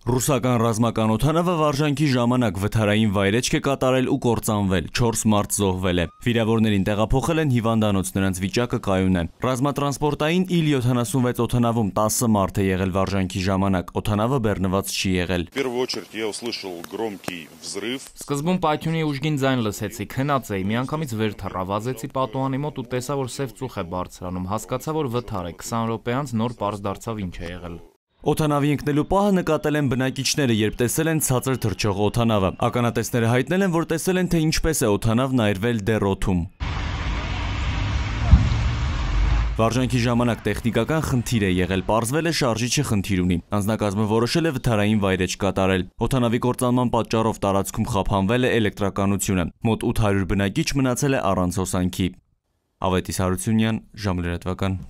Ռուսական ռազմական օդանավը վարժանքի ժամանակ վթարային վայրեջք է կատարել ու կործանվել, 4 մարդ զոհվել է։ Վիրավորներին տեղափոխել են հիվանդանոց, նրանց վիճակը կայուն է։ Ռազմատրանսպորտային Il-76 օդանավում 10 մարդ է եղել վարժանքի ժամանակ, օդանավը բեռնված չի եղել։ Սկզբում պայթյունի ուժգին ձայն լսեցի, քնած էի, միանգամից վեր թռա, վազեցի պատուհանի մոտ ու տեսա, որ սև ծուխ է բարձրանում, հասկացա, որ վթար է, 20 րոպե անց նոր պարզ դարձավ ինչ է եղել։ Օդանավի ընկնելու պահը նկատել են բնակիչները, երբ տեսել են ցածր թռչող օդանավը։ Ականատեսները հայտնել են, որ տեսել են, թե ինչպես է օդանավն այրվել դեռ օդում։ Վարժանքի ժամանակ տեխնիկական խնդիր է եղել, պարզվել է շարժիչը խնդիր ունի։ Անձնակազմը որոշել է վթարային վայրեջք կատարել։ Օդանավի կործանման պատճառով տարածքում խափանվել է էլեկտրականությունը։ Մոտ 800 բնակիչ մնացել է առանց հոսանքի։ Ավետիս Հարությունյան, ժամը լրատվական։